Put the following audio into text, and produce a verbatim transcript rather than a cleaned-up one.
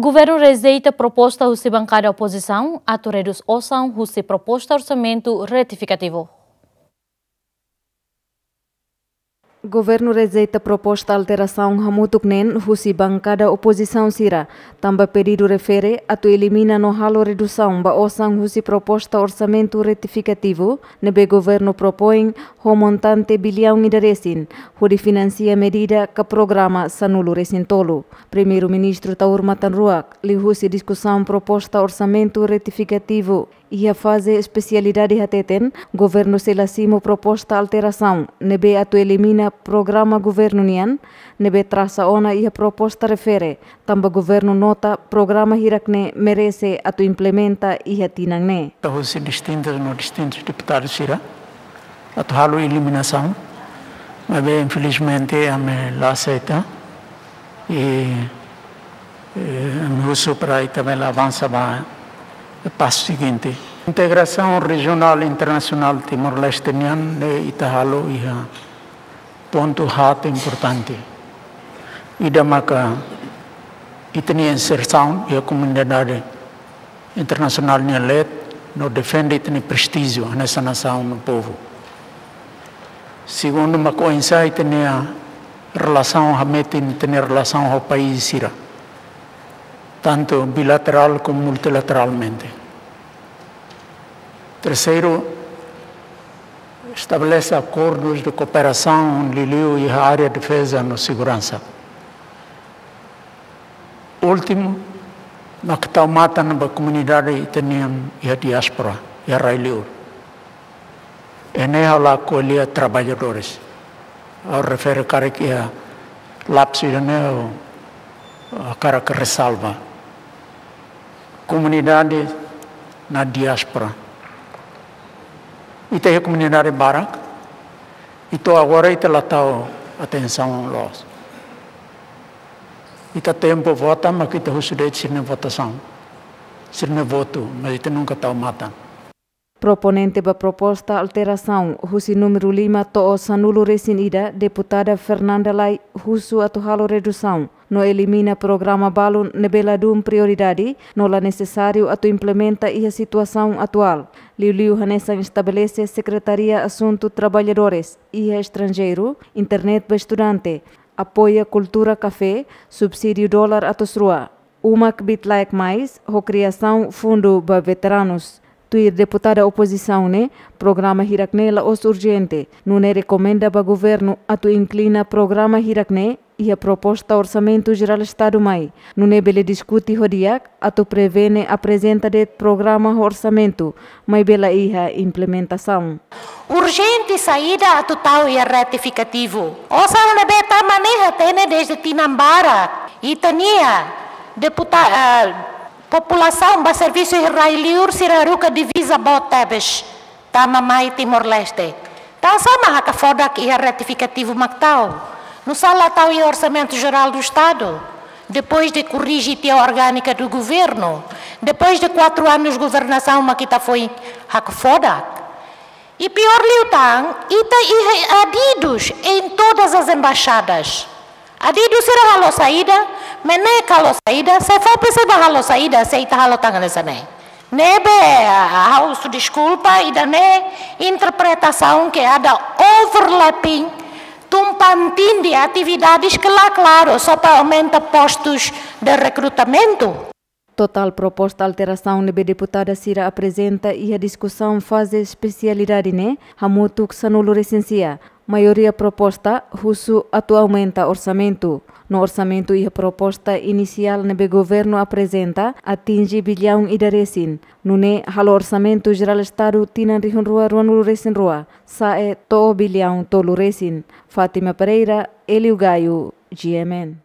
Governu rejeita proposta husi bankada opozisaun atu redús osan husi proposta orsamentu retifikativu. Governu rejeita proposta alterasaun hamutuk neen husi bankada opozisaun sira, tanba pedidu refere atu elimina no halo redusaun ba osan husi proposta orsamentu retifikativu ne'ebé governu propoin ho montante biliaun ida resin, hodi finansia medida ka programa sanulu resin tolu. Primeiru-Ministru Taur Matan Ruak, liuhusi diskusaun proposta orsamentu retifikativu iha faze espesialidade hateten, governu sei la simu proposta alterasaun ne'ebé atu elimina programa governu nian, ne'ebé trasa ona iha proposta refere, tanba governu nota programa hirak-ne'e merese atu implementa iha tinan ne'e. Husi distintus no distintus deputadu sira atu halo eliminasaun, maibé infelizmente ami la aseita. I, eh, ami husu para ita bele avansa ba pasu seguinte. Integrasaun rejionál internasionál Timor-Leste nian ne'e ita halo iha pontu haat importante. Ida maka ita-nia insersaun iha komunidade internasionál nia leet no defende ita-nia prestíjiu hanesan nasaun no povu. Segundu, mak oinsá ita-nia relasaun hametin ita-nia relasaun ho país sira, tantu bilaterál komu multilateralmente. Terseiru, estabelese akordus de kooperasaun liuliu iha área defeza no seguransa. Últimu, mak tau matan ba komunidade ita-nian iha diáspora, iha rai-liur. Ne'e ha'u la ko'alia traballadores. Ha'u refere karik iha lapsu ida-ne'e ha'u hakarak resalva. Komunidade na diáspora. Ita iha komunidade barak, i to'o agora ita la tau atensaun loos. Ita tempu vota, mak ita husu de'it sira-nia votasaun, sira-nia votu, mas ita nunka tau matan. Proponente ba proposta alterasaun husi númeru lima to'o sanulu resin ida, deputada Fernanda Lay, husu atu halo redusaun no elimina programa balun ne'ebé ladún prioridade no la nesesáriu atu implementa iha situasaun atuál. Liuliu hanesan estabelese Sekretaria Asuntu Traballadores iha estranjeiru, internet ba estudante, apoia kultura kafé, subsídiu dolar atus rua, uma kbiit-laek mais, ho kriasaun fundu ba veteranus. Tuir deputada opozisaun ne'e, programa hirak-ne'e la'ós urjente, nune'e rekomenda ba governu atu inklina programa hirak-ne'e iha proposta orsamentu jerál Estadu mai, nune'e bele diskute ho di'ak atu prevene aprezenta de'it programa ho orsamentu, maibé la iha implementasaun. Urjente saida atu tau iha retifikativu? Osan ne'ebé tama ne'e hatene dezde tinan barak. Ita-nia deputa-, eh, populasaun ba servisu iha rai-liur sira haruka divisa boot tebes tama mai Timor-Leste. Tansá mak hakfodak iha retifikativu mak tau? Nusá la tau iha Orsamentu Jerál do Estadu? Depois de korrije tiha orgánika do governu, depois de quatro anos governasaun mak ita foin hakfodak. I piór liután, ita iha adidus em todas as embaixadas. Adidus sira halo saida, MNEK halo saida, SEFOPE sei bá halo saida, se ita halo tan hanesan ne'e. Ne'ebé, ah, ha'u husu deskulpa, ida-ne'e interpretasaun ke ada overlapping, tumpang tindih atividades ke la klaru, só para aumenta postus de rekrutamentu. Totál proposta alterasaun ne'ebé deputada sira aprezenta iha diskusaun faze espesialidade ne'e hamutuk sanulu resin sia. Maioria proposta husu atu aumenta orsamentu. No orsamentu iha proposta inisiál ne'ebé governu aprezenta atinje biliaun ida resin. Nune'e halo Orsamentu Jerál Estadu tinan rihun rua ruanulu resin rua sa'e to'o biliaun tolu resin. Fátima Pereira, Hélio Gaio, G M N.